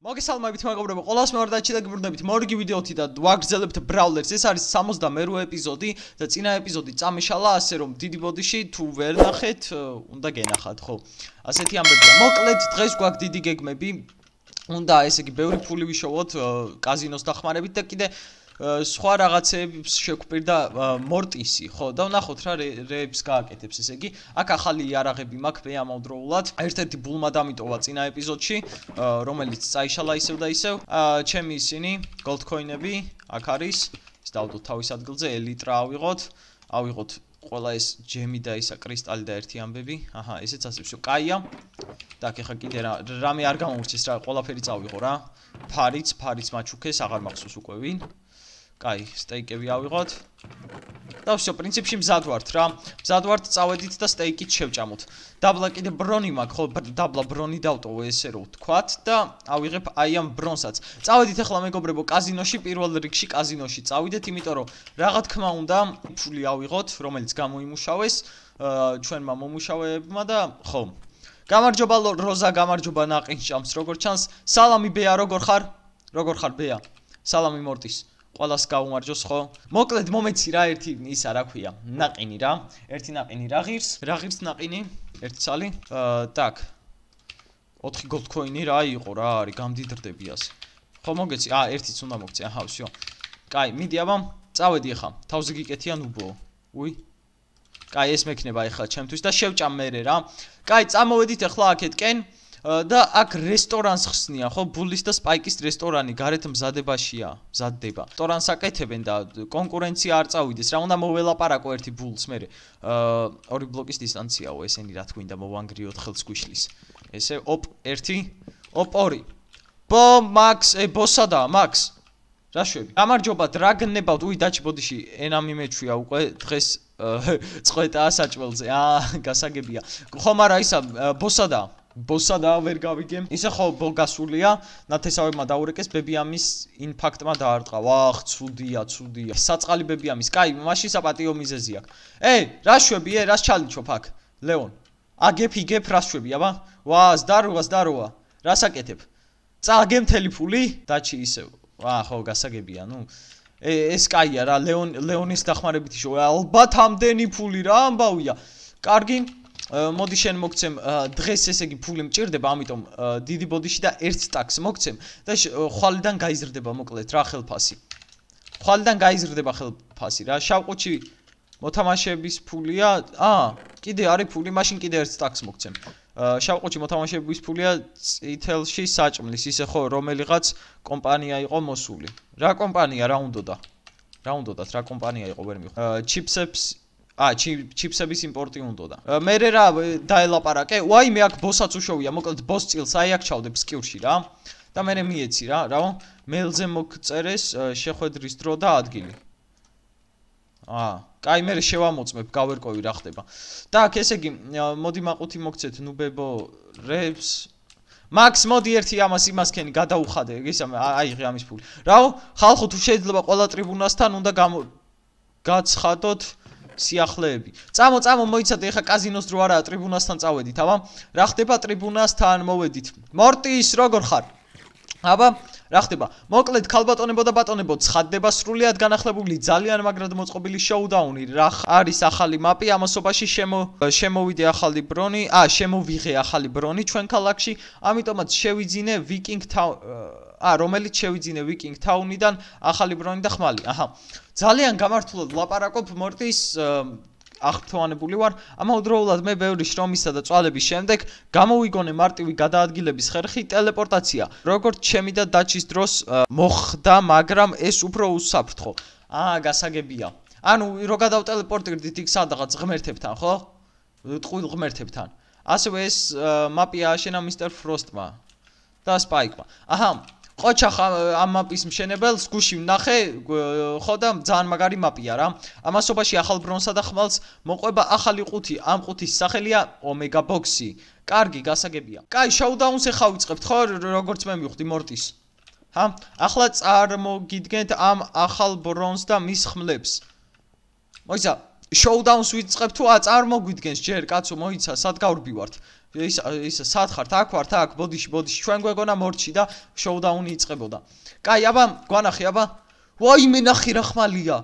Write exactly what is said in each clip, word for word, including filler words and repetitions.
მოგესალმებით მეგობრებო, ყველას მევარდაჩი და გიბრუნდებით მორიგი ვიდეოთი და ვაგრძელებთ ბრაულერს. ეს არის სამოცდამერვე ეპიზოდი და წინა ეპიზოდი წამიშალა, ასე რომ დიდი ბოდიში თუ ვერ ნახეთ, უნდა გენახათ, ხო? ასეთი ამბებია. მოკლედ დღეს გვაქვს დიდი გეგმები. უნდა ესე იგი ბევრი ფული ვიშოვოთ კაზინოს დახმარებით და კიდე სხვა რაღაცებს შეგვპირდა მორტისი, ხო? და ვნახოთ რა რეებს გააკეთებს, ესე იგი, აქ ახალი იარაღები მაქვს მე ამავდროულად. ერთ-ერთი ბულმა დამიტოვა წინა ეპიზოდში, რომელიც წაიშალა ისევ და ისევ. ჩემი ისინი, gold coin-ები, აქ არის. ის დავდოთ თავის ადგილზე, ელიტრა ავიღოთ, ავიღოთ ყველა ეს ჯემი და ისა კრისტალი და ერთი ამბები. აჰა, ესეც ასე всё. კაია. так, ეხა კიდე რა რამე არ გამოვურჩეს რა, ყველაფერი წავიღო რა. ფარიც, ფარიც მაჩუქეს, აღარ მახსოვს უკვე ვინ. კაი, სტეიკები ავიღოთ. და всё, პრინციპში მზად ვართ რა. მზად ვართ, წავედით და სტეიკით შევჭამოთ. დაბლა კიდე ბრონი მაქვს, ხო, დაბლა ბრონი დავტოვო ესე რომ ვთქვათ და ავიღებ აი ამ ბრონსაც. წავედით ახლა მეგობრებო კაზინოში, პირველ რიგში კაზინოში წავიდეთ, იმიტომ რომ რაღა თქმა უნდა, ფული ავიღოთ, რომელიც გამოიმუშავეს ჩვენმა მომუშავეებმა და ხო. გამარჯობა როზა, გამარჯობა ნაყინჭამს, როგორ ჩანს? სალამი ბეა, როგორ ხარ? როგორ ხარ ბეა? სალამი მორტის. ყველას გაუმარჯოს ხო? მოკლედ მომეცი რა ერთი ისა რა ქვია, ნაყინი რა. ერთი ნაყინი რა ღირს? რა ღირს ნაყინი? ერთი ცალი? აა, так. ოთხი gold coin-ი რა იყო რა არის, გამდიდრდები ასე. ხო მოგეცი? აა, ერთიც უნდა მოგცე. აჰა, всё. კაი, მიდი აბა, წავედი ახლა. თავზე გიკეთიან უბო. უი. კაი, ეს მექნება ახლა ჩემთვის და შევჭამ მერე რა. კაი, წამოვედით ახლა აქეთკენ. და აქ რესტორანს ხსნიან, ხო? ბულის და სპაიკის რესტორანი გარეთ მზადებაშია, მზადდება. რესტორანს აკეთებენ და კონკურენცია არ წავიდეს. რა უნდა მოველაპარაკო ერთი ბულს მერე. აა, ორი ბლოკის დისტანციაო, ესენი რა თქვინდა მოვანგრიოთ ხელს გვიშლის. ესე, ოპ, ერთი, ოპ, ორი. ბო, მაქს, ე, ბოსადა, მაქს. რა შვები? გამარჯობა, დრაგნებავთ. უი, დაჩი ბოდიში, ენა მიმეჩვია უკვე დღეს წყვეტაა საჭველზე. აა, გასაგებია. ხომ არა ისა, ბოსადა. ბოსადა ვერ გავიგემ. ისე ხო ბოლგასულია, ნათესავებმა დაურეკეს, ბებიამის ინფაქტმა დაარტყა. ვახ, ცუდია, ცუდია. საწყალი ბებიამის. კაი, მაშინ საპატიო მიზეზი აქვს. ე, რა შვები, ე, რას ჩალიჩობ აქ? ლეონ. აგებ, იგებ, რა შვები, აბა? ვა, ზდაროა, ზდაროა. რას აკეთებ? წააგე მთელი ფული? დაჩი ისევ. ვა, ხო, გასაგებია, ნუ. ე, ეს კაია რა, ლეონ, ლეონის დახმარებით იშო. ალბათ ამდენი ფული რა ამბავია. კარგი. მოდი შენ მოგცემ დღეს ესე იგი ფული მჭირდება, ამიტომ დიდი ბოდიში და ერთ სტაკს მოგცემ და ხვალიდან გაიზრდება მოკლედ რა ხელფასი. ხვალიდან გაიზრდება ხელფასი რა. შავყუთში მოთამაშეების ფულია. აა, კიდე არის ფული, მაშინ კიდე ერთ სტაკს მოგცემ. შავყუთში მოთამაშეების ფულია წითელში საჭმლის, ისე ხო რომელიღაც კომპანია იყო მოსული. რა კომპანია რა უნდოდა? რა უნდოდათ, რა კომპანია იყო ვერ მიხო. ჩიპსებს აა, ჩიპსების იმპორტი უნდოდა. მერე რა დაელაპარაკე? ვაი, მე აქ ბოსაც უშოვია, მოკლედ ბოს წილს აი აქ ჩავდებ სკიურში რა. და მერე მიეცი რა, რა. მეილზე მოგწერეს შეხვედრის დრო და ადგილი. აა, კაი, მერე შევამოწმებ, გავერკვევი რა ხდება. так, ესე იგი, მოდი მაყუთი მოგცეთ ნუბებო რებს. მაქს, მოდი ერთი ამას იმასქენი გადაუხადე, ისა აიღე ამის ფული. რაო, ხალხო თუ შეიძლება ყველა ტრიბუნასთან უნდა გაცხადოთ სიახლეები. წამო, წამო, მოიცადე, ეხა კაზინოს დრო არაა, ტრიბუნასთან წავედით, აბა. რა ხდება ტრიბუნასთან მოვედით. მორტის, როგორ ხარ? აბა, რა ხდება? მოკლედ, ქალბატონებო და ბატონებო, ცხადდება სრულიად განახლებული, ძალიან მაგრად მოწყობილი შოუდაუნი. რა არის ახალი მაპი, ამასობაში შემოვიდე ახალი ბრონი, აა, შემოვიღე ახალი ბრონი ჩვენ ქალაქში, ამიტომაც შევიძინე ვიკინგ თაუნ, აა, რომელიც შევიძინე ვიკინგ თაუნიდან ახალი ბრონი და ხმალი. აჰა. ძალიან გამართულად ლაპარაკობ მორტის აღფრთოვანებული ვარ. ამავდროულად მე ბევრი შრომისა და წვალების შემდეგ გამოვიგონე მარტივი გადაადგილების ხერხი ტელეპორტაცია. როგორც ჩემი და დაჩის დროს მოხდა, მაგრამ ეს უფრო უსაფრთხო. აა, გასაგებია. ანუ რო გადავტელეპორტირდით იქ სადღაც ღმერთებთან, ხო? ტყუილ ღმერთებთან. ასევე ეს მაპი ააშენა მისტერ ფროსტმა და სპაიკმა. აჰა. ყოჩა ამ მაპის მშენებელს გუში ვნახე, ხო და ძალიან მაგარი მაპია რა. ამასობაში ახალ ბრონსა და ხმალს მოყვება ახალი ყუთი. ამ ყუთის სახელია ომეგა ბოქსი. კარგი, გასაგებია. კაი, შოუდაუნს ეხა ვიწყებთ ხო, როგორც მე მივხვდი მორტის. ჰა, ახლა წარმოგიდგენთ ამ ახალ ბრონს და მის ხმლებს. მოიცა, შოუდაუნს ვიწყებთ თუ აწარმოგვიდგენს ჯერ კაცო, მოიცა, სად გავრბივართ? ის ის სად ხართ? აქ ვართ, აქ, ბოდიში, ბოდიში. ჩვენ გვეგონა მორჩი და შოუდაუნი იწყებოდა. კაი, აბა, გვანახი, აბა. ვაიმე, ნახე რა ხმალია.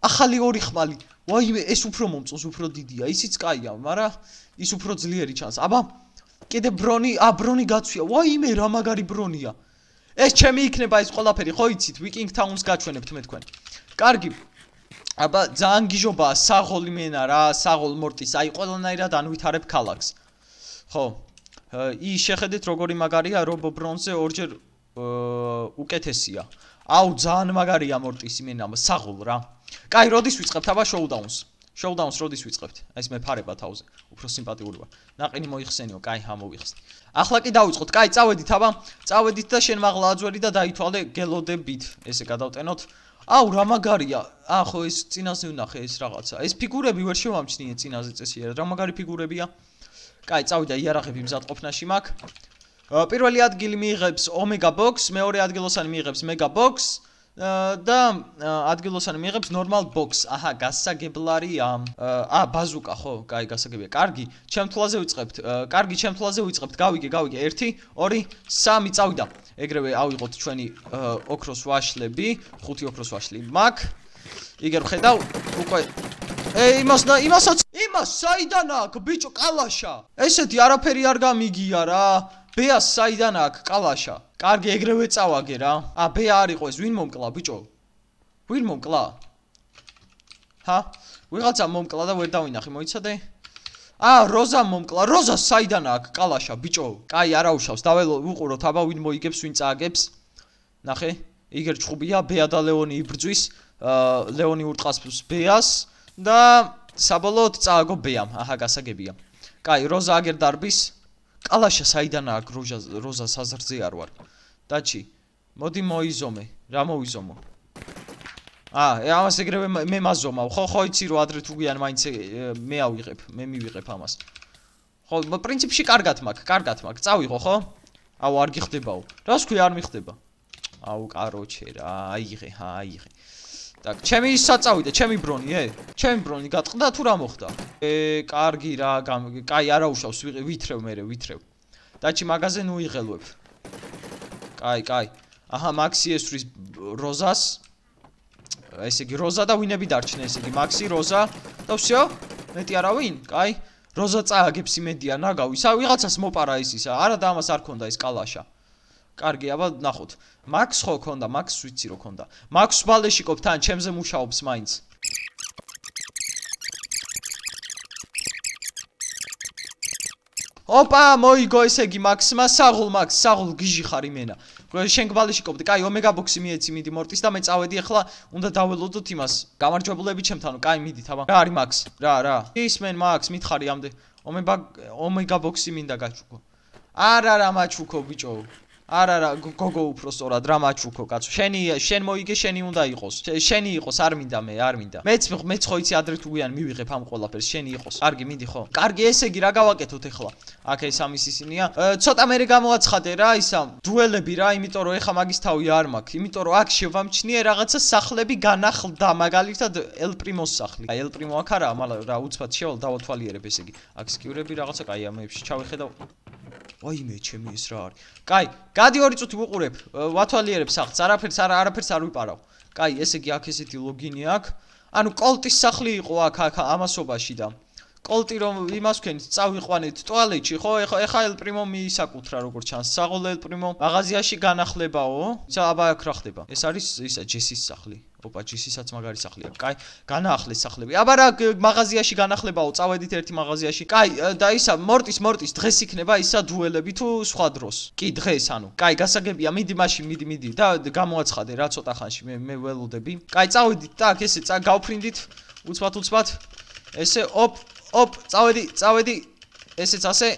ახალი ორი ხმალი. ვაიმე, ეს უფრო მომწონს, უფრო დიდია. ისიც კაია, მაგრამ ის უფრო ძლიერი ჩანს. აბა, კიდე ბრონი, ა ბრონი გაცვია. ვაიმე, რა მაგარი ბრონია. ეს ჩემი იქნება ეს ყველაფერი, ხო იცით? Viking Town-ს გაჩვენებთ მე თქვენ. კარგი. აბა, ძალიან გიჟობაა საღოლი მენა რა, საღოლ მორტის. აი, ყველანაირად ანვითარებ ქალაქს. ხო. ის შეხედეთ როგორი მაგარია, რობო ბრონზე ორჯერ უკეთესია. აუ, ძალიან მაგარია მორტის იმენა, საღოლ რა. კაი, როდის ვიწყებთ აბა შოუდაუნს? შოუდაუნს როდის ვიწყებთ? ეს მე ფარება თავზე. უფრო სიმპათიური ვარ. ნაყინი მოიხსენიო, კაი, ამოვიხსნი. ახლა კი დავიწყოთ. კაი, წავედით აბა. წავედით და შენ მაღლა აძვერი და დაითვალე გელოდებით. ესე გადავტენოთ. აუ, რა მაგარია. აა, ხო, ეს წინაზე ვნახე ეს რაღაცა. ეს ფიგურები ვერ შევამჩნიე წინაზე წესიერად. რა მაგარი ფიგურებია? კაი, წავიდა იარაღები მზადყოფნაში მაქვს. პირველი ადგილი მიიღებს Omega Box, მეორე ადგილოსანი მიიღებს Mega Box და ადგილოსანი მიიღებს Normal Box. აჰა, გასაგებლარია. აა, ბაზუკა, ხო, კაი, გასაგებია. კარგი, ჩემ თვალზე ვიწყებთ. კარგი, ჩემ თვალზე ვიწყებთ. გავიგე, გავიგე. ერთი, ორი, სამი, წავიდა. ეგრევე ავიღოთ ჩვენი ოქროს ვაშლები, ხუთი ოქროს ვაშლი მაქვს. იგერ ვხედავ, უკვე ეი, იმას და იმასაც, იმას საიდან აქვს, ბიჭო, კალაშა. ესეთი არაფერი არ გამიგია რა. ბეას საიდან აქვს კალაშა? კარგი, ეგრევე წავაგე რა. ა, ბეა არ იყო ეს, ვინ მომკლა, ბიჭო? ვინ მომკლა? ჰა? ვიღაცა მომკლა და ვერ დავინახე, მოიცადე? ა, როზა მომკლა, როზა საიდან აქვს კალაშა, ბიჭო? კაი, არა უშავს, დაველო, ვუყუროთ, აბა ვინ მოიგებს, ვინ წააგებს. ნახე, იგერ ჭხუბია, ბეა და ლეონი იბრძვის, ლეონი ურტყასებს ბეას და საბოლოოდ წააგო ბეამ. აჰა, გასაგებია. კაი, როზა აგერ დარბის. კალაშა საიდან აქვს როზა როზა საზრზე არ ვარ. დაჩი, მოდი მოიზომე. რა მოვიზომო? აა, ამას ეგრევე მე მაზომავ. ხო, ხო იცი რომ ადრე თუ გვიან მაინც მე ავიღებ, მე მივიღებ ამას. ხო, პრინციპში კარგად მაქვს, კარგად მაქვს. წავიღო, ხო? აუ, არ გიხდებაო. რას ქვია არ მიხდება? აუ, კაროჩე რა, აიღე, ჰა, აიღე. Так, ჩემი საწავიდა, ჩემი ბრონი, ე? ჩემი ბრონი გატყდა თუ რა მოხდა? ე, კარგი რა, კაი, არა უშავს, ვითრევ მე, ვითრევ. დაჩი მაგაზე ნუ იღელვებ. კაი, კაი. აჰა, მაქსი ესვრის როზას. ესე იგი, როზა და ვინები დარჩნენ, ესე იგი, მაქსი, როზა და всё? მეტი არავინ? კაი. როზა წააგებს იმედია, ნაგავი. სა ვიღაცას მოპარა ის ისა. არა და ამას არ ქონდა ეს კალაშა. კარგი, აბა ნახოთ. მაქს ხო ქონდა, მაქს ვიცი რო ქონდა. მაქს ბალეშიკობ თან, ჩემზე მუშაობს მაინც. ოპა, მოიგო ესე იგი მაქსმა, საღულ მაქს, საღულ გიჟი ხარ იმენა. შენ გბალეშიკობდი, კაი, Omega Box-ი მიეცი, მიდი მორტის და მე წავედი ახლა, უნდა დაველოდოთ იმას. გამარჯვებულები ჩემთანო, კაი, მიდით, აბა. რა არის მაქს? რა, რა. ისმენ მაქს, მითხარი ამდე. Omega Box-ი მინდა გაჩუქო. არა, რა მაჩუქო, ბიჭო. არა რა გოგო უფრო სწორად რა მაჩუქო კაცო შენი შენ მოიგე შენი უნდა იყოს შენი იყოს არ მინდა მე არ მინდა მეც მეც ხო იცი ადრე თუ გვიან მივიღებ ამ ყველაფერს შენი იყოს კარგი მიდი ხო კარგი ესე იგი რა გავაკეთოთ ახლა აქ ეს ამის ისინია ცოტა მე გამოაცხადე რა ისა დუელები რა იმიტომ რომ ეხა მაგის თავი არ მაქვს იმიტომ რომ აქ შევამჩნიე რაღაცა სახლები განახლდა მაგალითად ელ პრიმოს სახლი აი ელ პრიმო აქ არა მაგრამ რა უცბად შევალ დავათვალიერებ ესე იგი აქ სკიურები რაღაცა კაი ამებში ჩავეხედავ ვაიმე ჩემი ეს რა არის კაი გადი ორი წუთი ვუყურებ ვათვალიერებ სახლს არაფერს არა არაფერს არ ვიპარავ კაი ესე იგი აქ ესეთი ლოგინი აქვს ანუ კოლტის სახლი იყო აქ აქ ამასობაში და კოლტი რომ იმას ვქენით წავიყვანეთ ტუალეტში ხო ეხა ეხა ელ პრიმო მიისაკუთრა როგორც ჩანს საღოლ ელ პრიმო მაღაზიაში განახლებაო ისა აბა აქ რა ხდება ეს არის ისა ჯესის სახლი ოპა ჯესისაც მაგარი სახლია კაი განაახლეს სახლები აბა რა მაღაზიაში განახლებაო წავედით ერთი მაღაზიაში კაი და ისა მორტის მორტის დღეს იქნება ისა დუელები თუ სხვა დროს კი დღეს ანუ კაი გასაგებია მიდი მაშინ მიდი მიდი და გამოაცხადე რა ცოტა ხანში მე მე ველოდები კაი წავედით და აქ ესე გავფრინდით უცბად უცბად ესე ოპ ოპ წავედი წავედი ესეც ასე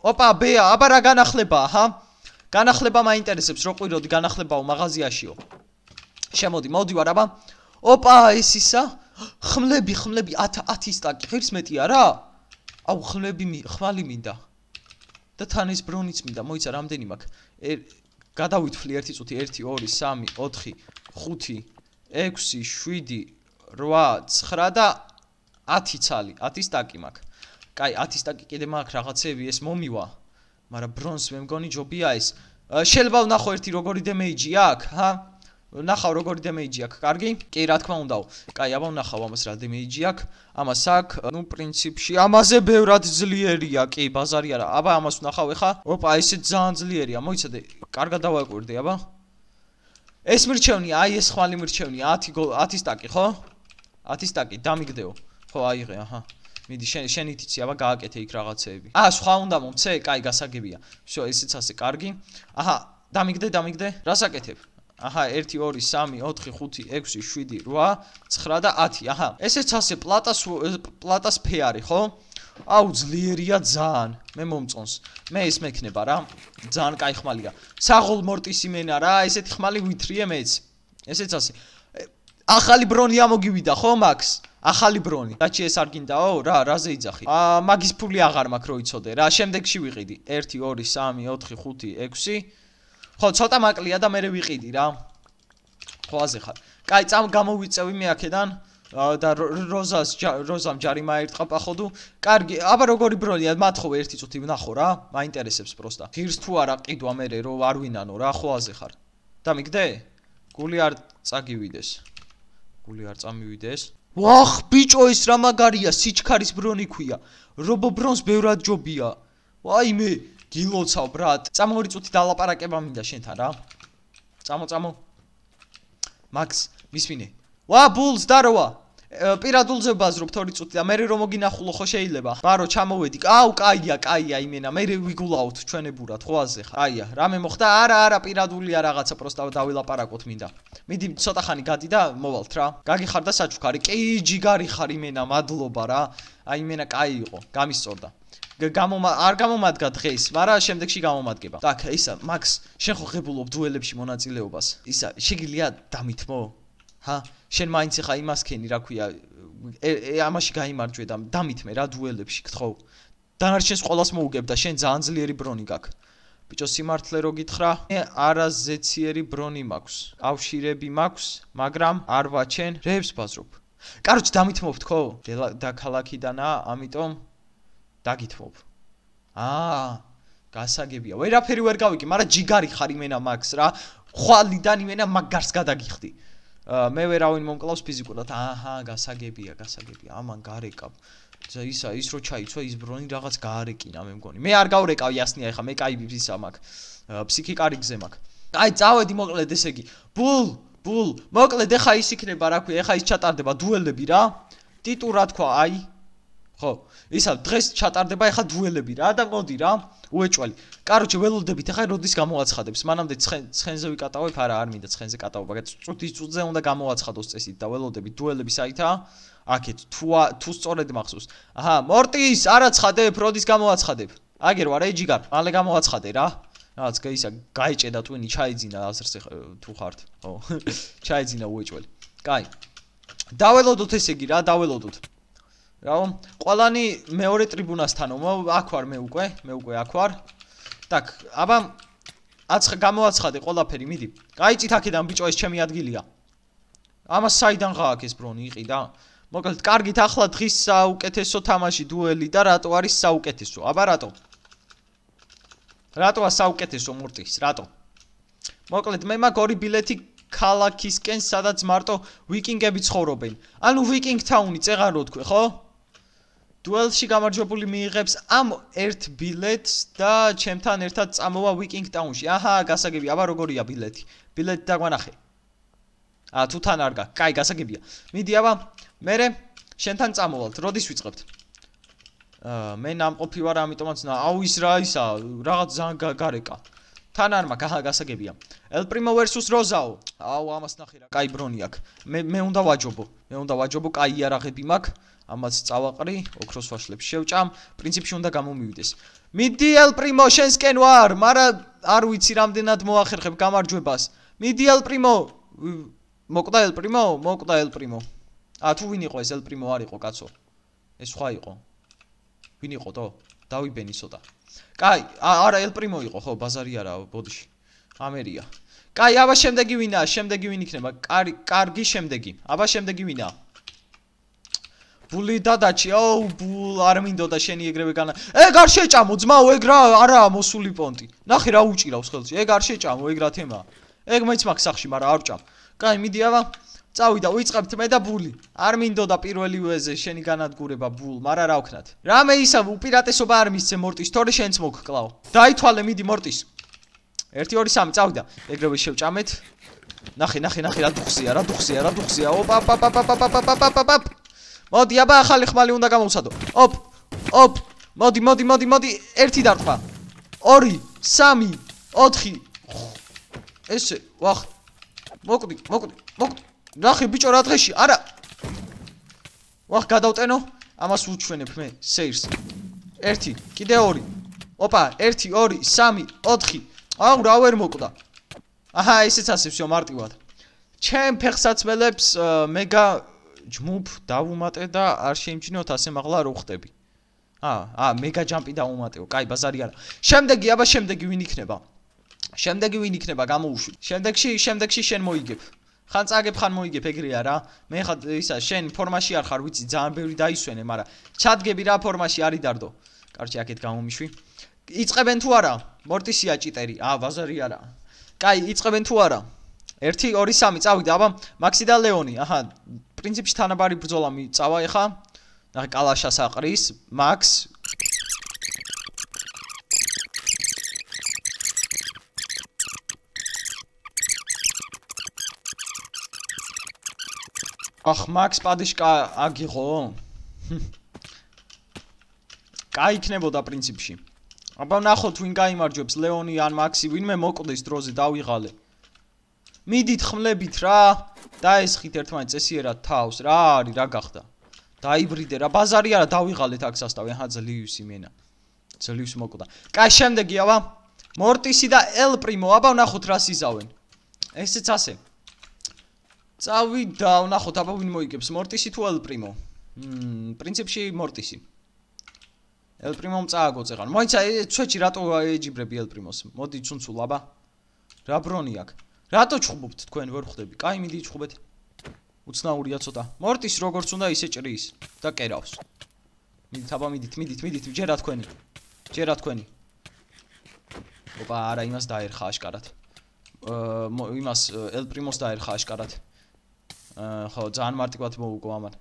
ოპა ბეა აბა რა განახლებაა ჰა განახლება მაინტერესებს რო ყვიროდი განახლებაო მაღაზიაშიო შემოდი მოდი ვარ აბა ოპა ეს ისა ხმლები ხმლები ათი სტაკი ღირს მეტია რა აუ ხმლები ხმალი მინდა და თან ეს ბრონიც მინდა მოიცა რამდენი მაქვს გადავითვლი ერთი წუთი ერთი ორი სამი ოთხი ხუთი ექვსი შვიდი რვა ცხრა და ათი ცალი ათი სტაკი მაქვს კაი, ათი სტაკი კიდე მაქვს რაღაცები, ეს მომივა. მაგრამ ბრონს მე მგონი ჯობია ეს. შეიძლება ვნახო ერთი როგორი დემეიჯი აქვს, ჰა? ვნახავ როგორი დემეიჯი აქვს, კარგი? კი, რა თქმა უნდა. კაი, აბა ვნახავ ამას რა დემეიჯი აქვს. ამას აქვს, ნუ პრინციპში ამაზე ბევრად ძლიერია, კი, ბაზარი არა. აბა ამას ვნახავ ეხა. ოპა, ესე ძალიან ძლიერია. მოიცადე, კარგად დავაკვირდი, აბა. ეს მირჩევნია, აი ეს ხმალი მირჩევნია, ათი სტაკი, ხო? ათი სტაკი, დამიგდეო. ხო, აიღე, აჰა. მიდი შენ შენით იცი, აბა გააკეთე იქ რაღაცეები. აა, სხვა უნდა მომცე? კაი, გასაგებია. всё, ესეც ასე კარგი. აჰა, დამიგდე, დამიგდე. რას აკეთებ? აჰა, ერთი, ორი, სამი, ოთხი, ხუთი, ექვსი, შვიდი, რვა, ცხრა და ათი. აჰა, ესეც ასე პლატას პლატას ფეარი, ხო? აუ, ძლიერია ძალიან. მე მომწონს. მე ეს მექნება რა. ძალიან კაი ხმალია. საღოლ მორტის იმენა რა, ესეთი ხმალი ვითრიე მეც. ესეც ასე. ახალი ბრონი ამოგივიდა, ხო, მაქს? ახალი ბრონი. რაჩი ეს არ გინდაო? რა, რაზე იძახი? აა, მაგის ფული აღარ მაქვს რო იცოდე რა. შემდეგში ვიყიდი. ერთი, ორი, სამი, ოთხი, ხუთი, ექვსი. ხო, ცოტა მაკლია და მე ვიყიდი რა. ხო, აზე ხარ. კაი, წამ გამოვიწევი მე აქედან და როზას როზამ ჯარიმა ერთხა პახოდუ. კარგი, აბა როგორი ბრონია? მათხოვე ერთი წუთი ვნახო რა. მაინტერესებს პროსტა. ღირს თუ არა ყიდვა მე რო არ ვინანო რა, ხო აზე ხარ. დამიგდე? გული არ წაგივიდეს. გული არ წამივიდეს. ვახ, ბიჭო, ეს რა მაგარია, სიჩქარის ბრონი ქვია. რობო ბრონს ბევრად ჯობია. ვაი მე გილოცავ, ბრატ. წამო ორი წუთი დალაპარაკება მინდა შენთან რა. წამო, წამო. მაქს, მისმინე. ვა, ბულს დაროვა. პირადულზე ვბაზრობთ ორი წუთი და მე რომ მოგინახულო ხო შეიძლება? ბარო, ჩამოვედი. აუ, კაია, კაია იმენა. მე ვიგულავთ ჩვენებურად, ხო აზე ხარ? აია, რამე მოხდა? არა, არა, პირადულია რაღაცა, პროსტა დავილაპარაკოთ მინდა. მიდი, ცოტა ხანი გადი და მოვალთ რა. გაგიხარ და საჩუქარი. კი, ჯიგარი ხარ იმენა, მადლობა რა. აი იმენა კაი იყო, გამისწორდა. გამომა არ გამომადგა დღეს, მაგრამ შემდეგში გამომადგება. так, ისა, მაქს, შენ ხო ღებულობ დუელებში მონაწილეობას? ისა, შეგიძლია დამითმო? ჰა, შენ მაინც ხა იმას ქენი, რა ქვია, ამაში გაიმარჯვე და დამითმე რა დუელებში, გთხოვ. დანარჩენს ყოველას მოუგებ და შენ ძალიან ძლიერი ბრონი გაქვს. ბიჭო, სიმართლე რო გითხრა, მე არაზეციერი ბრონი მაქვს. კავშირები მაქვს, მაგრამ არ ვაჩენ, რებს ბაზრობ. კაროჩ, დამითმობთ ხო? და ქალაქიდანაა, ამიტომ დაგითმობ. აა, გასაგებია. ვერაფერი ვერ გავიკი, მაგრამ ჯიგარი ხარ იმენა მაქს რა. ხვალიდან იმენა მაგარს გადაგიხდი. მე ვერავინ მომკლავს ფიზიკურად. აჰა, გასაგებია, გასაგებია. ამან გარეკავ. ისა ის რო ჩაიცვა ის ბრონი რაღაც გაარეკინა მე მგონი. მე არ გავრეკავ იასნია ეხა, მე კაი ისა მაქვს. ფსიქიკარი გზე მაქვს. აი, წავედი მოკლედ ესე იგი. ბულ, ბულ. მოკლედ ეხა ის იქნება რა ქვია, ეხა ის ჩატარდება დუელები რა. ტიტუ რა თქვა, აი. ხო, ისა დღეს ჩატარდება ეხა დუელები რა და მოდი რა. უეჭველი. კაროჩე, ველოდებით ეხა როდის გამოაცხადებს. მანამდე ცხენზე ვიკატავებ, არა, არ მინდა ცხენზე კატავება. წუთის წუთზე უნდა გამოაცხადოს წესით და ველოდებით დუელები საითაა? აქეთ თუ თუ სწორედ მახსოვს. აჰა, მორტის, არა ცხადებ, როდის გამოაცხადებ? აგერ ვარ, ეი ჯიგარ, მალე გამოაცხადე რა. რაღაც ისა გაიჭედა ტვინი, ჩაიძინა აზრს თუ ხართ. ხო. ჩაიძინა უეჭველი. კაი. დაველოდოთ ესე იგი რა, დაველოდოთ. რაო, ყველანი მეორე ტრიბუნასთანო, აქ ვარ მე უკვე, მე უკვე აქ ვარ. так, აბა აცხ გამოაცხადე ყველაფერი, მიდი. გაიწით აქედან ბიჭო, ეს ჩემი ადგილია. ამას საიდან გააქვს ეს ბრონი იყიდა? მოკლედ, კარგით, ახლა დღის საუკეთესო თამაში დუელი და რატო არის საუკეთესო? აბა რატო? რატოა საუკეთესო მორტის? რატო? მოკლედ, მე მაქვს ორი ბილეთი ქალაქისკენ, სადაც მარტო ვიკინგები ცხოვრობენ. ანუ ვიკინგ თაუნი წეღარო თქვი, ხო? დუელში გამარჯვებული მიიღებს ამ ერთ ბილეთს და ჩემთან ერთად წამოვა ვიკინგ ტაუნში. აჰა, გასაგებია, აბა როგორია ბილეთი? ბილეთი დაგვანახე. აა, თუ თან არ გაქვს. კაი, გასაგებია. მიდი, აბა, მერე შენთან წამოვალთ. როდის ვიწყებთ? აა, მე ნამყოფი ვარ, ამიტომაც აუ ის რა ისა, რაღაც ძალიან გარეკა. თან არ მაქვს, აჰა, გასაგებია. El Primo versus Rozao. აუ, ამას ნახე რა, კაი ბრონი აქვს. მე მე უნდა ვაჯობო. მე უნდა ვაჯობო, კაი იარაღები მაქვს. ამას წავაყრი, ოქროს ვაშლებს შევჭამ, პრინციპში უნდა გამომივიდეს. მიდი El Primo, შენსკენ ვარ, მაგრამ არ ვიცი რამდენად მოახერხებ გამარჯვებას. მიდი El Primo. მოკვდა El Primo, მოკვდა El Primo. ა თუ ვინ იყო ეს El Primo არ იყო, კაცო. ეს სხვა იყო. ვინ იყო თო? დავიბენი ცოტა. კაი, არა El Primo იყო, ხო, ბაზარი არა, ბოდიში. ამერია. კაი, აბა შემდეგი ვინაა? შემდეგი ვინ იქნება? კარგი, კარგი შემდეგი. აბა შემდეგი ვინაა? ბული დადაჩი, აუ, ბულ არ მინდოდა შენი ეგრევე განა. ეგ არ შეჭამო, ძმაო, ეგ რა არაა მოსული პონტი. ნახე რა უჭირავს ხელში. ეგ არ შეჭამო, ეგ რა თემაა. ეგ მეც მაქვს სახში, მაგრამ არ ვჭამ. კაი, მიდი აბა. წავიდა, ვიწყებთ მე და ბული. არ მინდოდა პირველივეზე შენი განადგურება ბულ, მაგრამ რა ვქნათ. რამე ისა უპირატესობა არ მისცე მორტის, თორე შენც მოგკლავ. დაითვალე, მიდი მორტის. ერთი ორი სამი წავიდა. ეგრევე შევჭამეთ. ნახე, ნახე, ნახე, რა დუხსია, რა დუხსია, რა დუხსია. ოპა, პა, პა, პა, პა, პა, პა, პა, პა, პა. მოდი, აბა, ახალი ხმალი უნდა გამოვსადო. ოპ, ოპ. მოდი, მოდი, მოდი, მოდი. ერთი დარტყმა. ორი, სამი, ოთხი. ესე, ვახ. მოკვდი, მოკვდი, მოკვდი. ნახე, ბიჭო, რა დღეში? არა. ვახ, გადავტენო. ამას ვუჩვენებ მე, სეირს. ერთი, კიდე ორი. ოპა, ერთი, ორი, სამი, ოთხი. აუ, რა ვერ მოკვდა. აჰა, ესეც ასე всё მარტივად. ჩემ ფეხსაცმელებს მეგა ჯმუფ დავუმატე და არ შეიმჩნიოთ ასე მაღლა რო ხტები. აა, აა, მეგა ჯამპი დავუმატეო. კაი, ბაზარი არა. შემდეგი, აბა, შემდეგი ვინ იქნება? შემდეგი ვინ იქნება, გამოვუშვი. შემდეგში, შემდეგში შენ მოიგებ. ხან წაგებ, ხან მოიგებ, ეგრეა რა. მე ხა ისა შენ ფორმაში არ ხარ, ვიცი, ძალიან ბევრი დაისვენე, მაგრამ ჩადგები რა ფორმაში არის დარდო. კარჩი, აქეთ გამომიშვი. იწყებენ თუ არა? მორტისია ჭიტერი. აა, ბაზარი არა. კაი, იწყებენ თუ არა? ერთი, ორი, სამი, წავიდა, აბა, მაქსი და ლეონი. აჰა, პრინციპში თანაბარი ბრძოლა მიწავა ეხა. ნახე, კალაშას აყრის, მაქს. ახ, მაქს პადიშკა აგიღო? კაი იქნებოდა პრინციპში. აბა, ნახოთ ვინ გაიმარჯვებს, ლეონი ან მაქსი, ვინმე მოკვდეს დროზე დავიღალე. მიდით ხმლებით რა, დაესხით ერთმანეთს წესიერად თავს, რა არის, რა გახდა? დაიბრიდე რა, ბაზარი არა, დავიღალეთ აქ სასტავი, აჰა, ძლივს იმენა. ძლივს მოკვდა. კაი, შემდეგი, აბა, მორტისი და ელ პრიმო, აბა, ნახოთ რას იზავენ. ესეც ასე. წავიდა, ნახოთ, აბა, ვინ მოიგებს, მორტისი თუ ელ პრიმო? მმ, პრინციპში მორტისი. ელ პრიმომ წააგო წეღან. მოიცა, ცუჩი რატო ეჯიბრები ელ პრიმოს? მოდი ცუნცულ, აბა. რა ბრონი აქ? რატო ჩხუბობთ თქვენ ვერ ხვდები? კაი, მიდი ჩხუბეთ. უცნაურია ცოტა. მორტის როგორც უნდა ისე ჭრის და კერავს. მიდით, აბა, მიდით, მიდით, მიდით, ჯერა თქვენი. ჯერა თქვენი. ოპა, არა, იმას დაერხა აშკარად. აა, იმას ელ პრიმოს დაერხა აშკარად. აა, ხო, ძალიან მარტივად მოუგო ამან.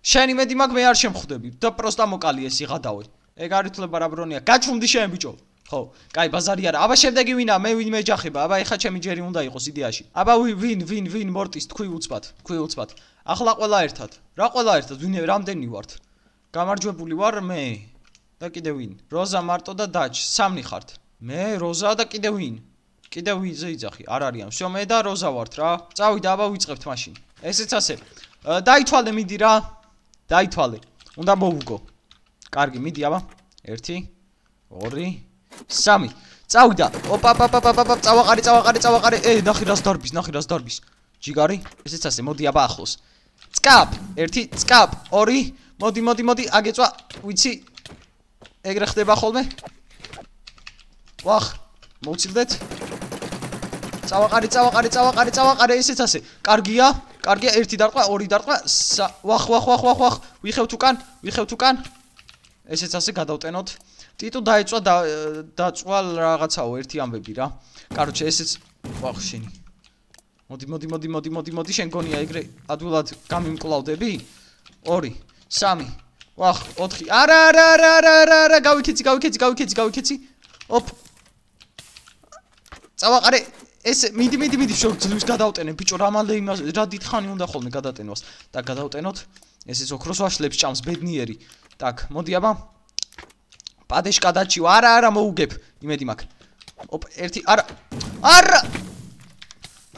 შენი მედი მაგ მე არ შემხვდები და პროსტა მოკალი ეს იღადავე. ეგ არ ითვლება რა ბრონია. გაჩვმდი შენ ბიჭო. ხო, კაი, ბაზარი არა. აბა, შემდეგი ვინა? მე ვინ მეჯახება? აბა, ეხა ჩემი ჯერი უნდა იყოს იდეაში. აბა, ვინ, ვინ, ვინ მორტის თქვი უცბად, თქვი უცბად. ახლა ყველა ერთად. რა ყველა ერთად? ვინ რამდენი ვართ? გამარჯვებული ვარ მე. და კიდე ვინ? როზა, მარტო და დაჩ. სამნი ხართ. მე, როზა და კიდე ვინ? კიდე ვინზე იძახი? არ არიან. всё, მე და როზა ვართ რა. წავიდა, აბა, ვიწყებთ მაშინ. ესეც ასე. დაითვალე, მიდი რა. დაითვალე. უნდა მოვუგო. კარგი, მიდი, აბა. ერთი, ორი, სამი. წავიდა. ოპა, პა, პა, პა, პა, წავაყარე, წავაყარე, წავაყარე. ე, ნახე რას დარბის, ნახე რას დარბის. ჯიგარი? ესეც ასე, მოდი აბა ახლოს. წკაპ, ერთი, წკაპ, ორი. მოდი, მოდი, მოდი, აგეწვა. ვიცი. ეგრე ხდება ხოლმე. ვახ, მოვცილდეთ. წავაყარე, წავაყარე, წავაყარე, წავაყარე, ესეც ასე. კარგია, კარგია, ერთი დარტყმა, ორი დარტყმა. ვახ, ვახ, ვახ, ვახ, ვახ. ვიხევთ უკან, ვიხევთ უკან. ესეც ასე გადავტენოთ. ტიტუ დაეწვა დაწვალ რაღაცაო, ერთი ამბები რა. კაროჩე, ესეც ვახ შენი. მოდი, მოდი, მოდი, მოდი, მოდი, მოდი, შენ გონია ეგრე ადვილად გამიმკლავდები? ორი, სამი, ვახ, ოთხი. არა, არა, არა, არა, არა, არა, გავიქეცი, გავიქეცი, გავიქეცი, გავიქეცი. ოპ. წავაყარე, ეს მიდი, მიდი, მიდი, შო ძლივს გადავტენე, ბიჭო, რამალე იმას, რა დიდხანი უნდა ხოლმე გადატენოს. და გადავტენოთ. ესეც ოქროს ვაშლებს ჭამს ბედნიერი. так, მოდი აბა. პადეშკა დაჩიო, არა, არა, მოუგებ. იმედი მაქვს. ოპ, ერთი, არა. არა!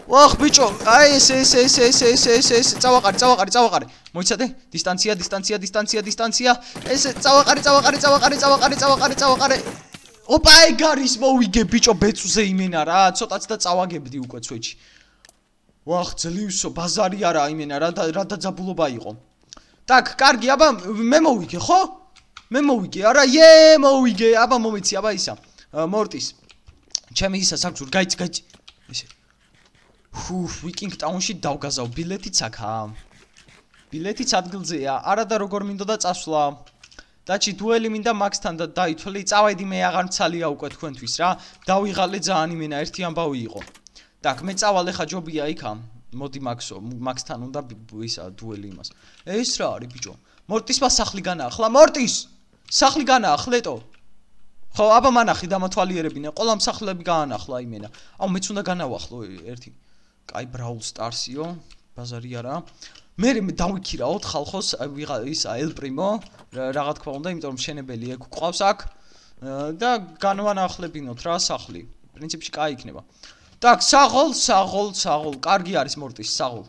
ვახ, ბიჭო, აი ეს ეს ეს ეს ეს ეს ეს წავაყარე, წავაყარე, წავაყარე. მოიცადე? დისტანცია, დისტანცია, დისტანცია, დისტანცია. ეს წავაყარე, წავაყარე, წავაყარე, წავაყარე, წავაყარე, წავაყარე. ოპა, ეგ არის მოვიგე, ბიჭო, ბეწუზე იმენა რა, ცოტაც და წავაგებდი უკვე ცვეჩი. ვახ, ძლივსო, ბაზარი არა იმენა რა და რა დაძაბულობა იყო. так, კარგი, აბა, მე მოვიგე, ხო? მე მოვიგე, არა, ე, მოვიგე, აბა მომეცი, აბა ისა. მორტის. ჩემი ისა საქმე, გაიც, გაიც. ესე. ჰუ, ვიკინგ ტაუნში დავგაზავ, ბილეთიც აქაა. ბილეთიც ადგილზეა. არა და როგორ მინდოდა წასვლა. დაჩი დუელი მინდა მაქსთან და დაითვლი. წავედი მე აღარ მცალია უკვე თქვენთვის რა. დავიღალე ძალიან იმენა ერთი ამბავი იყო. Так, მე წავალ ხა ჯობია იქა. მოდი მაქსო, მაქსთან უნდა ისა დუელი იმას. ეს რა არის ბიჭო? მორტისმა სახლი განაახლა. მორტის! სახლი განაახლეტო. ხო, აბა მანახი დამათვალიერებინე. ყველა მსახლები გაანახლა იმენა. აუ მეც უნდა განავახლო ერთი. კაი ბრაულ სტარსიო, ბაზარი არა. მე დავიქირაოთ ხალხოს ვიღა ისა ელ პრიმო, რაღა თქვა უნდა, იმიტომ რომ შენებელი ეგ გვყავს აქ და განვანახლებინოთ რა სახლი. პრინციპში კაი იქნება. Так, საღოლ, საღოლ, საღოლ. კარგი არის მორტის საღოლ.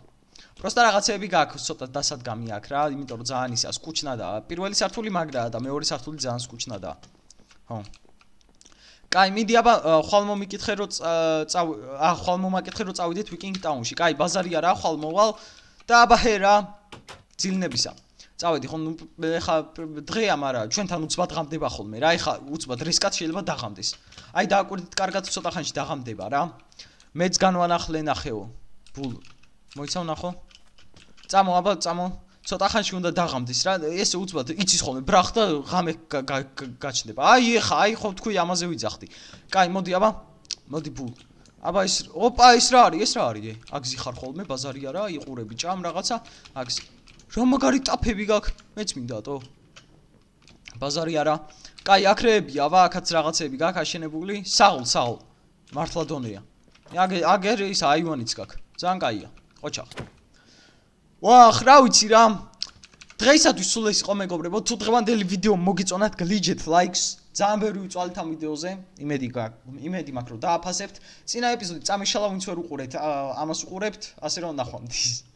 Просто რაღაცები გაქვს ცოტა დასადგამი აქ რა, იმიტომ რომ ძალიან ისა სკუჩნადაა. პირველი სართული მაგრაა და მეორე სართული ძალიან სკუჩნადაა. ხო. კაი, მიდი აბა ხვალ მომიკითხე რომ წავ ა ხვალ მომაკითხე რომ წავიდეთ ვიკინგ ტაუნში. კაი, ბაზარი არა, ხვალ მოვალ და აბა ჰერა ძილნებისა. წავედი ხო ეხა დღეა, მაგრამ ჩვენთან უცბად ღამდება ხოლმე რა. ეხა უცბად რისკად შეიძლება დაღამდეს. აი დააკვირდით კარგად ცოტა ხანში დაღამდება რა. მეც განვანახლე ნახეო. ბულ მოიცავ ნახო? წამო აბა წამო. ცოტა ხანში უნდა დაღამდეს რა. ესე უცბად იცის ხოლმე ბრახ და ღამე გაჩნდება. აი ეხა, აი ხო თქვი ამაზე ვიძახდი. კაი, მოდი აბა. მოდი ბულ. აბა ეს ოპა ეს რა არის? ეს რა არის? აგზი ხარ ხოლმე ბაზარი არა, იყურები ჭამ რაღაცა. აგზი. რა მაგარი ტაფები გაქვს? მეც მინდათო. ბაზარი არა. კაი, აქრეებია, აბა აქაც რაღაცები გაქვს აშენებული. საღოლ, საღოლ. მართლა დონეა. აგე აგერ ის აივანიც გაქვს. ძალიან კაია. ყოჩახ. ვახ, რა ვიცი რა. დღეისათვის სულ ეს იყო მეგობრებო. თუ დღევანდელი ვიდეო მოგიწონათ, გლიჯეთ ლაიქს. ძალიან ბევრი ვიწვალეთ ამ ვიდეოზე. იმედი გაქვს, იმედი მაქვს რომ დააფასებთ. წინა ეპიზოდი წამიშალა ვინც ვერ უყურეთ, ამას უყურებთ, ასე რომ ნახვამდის.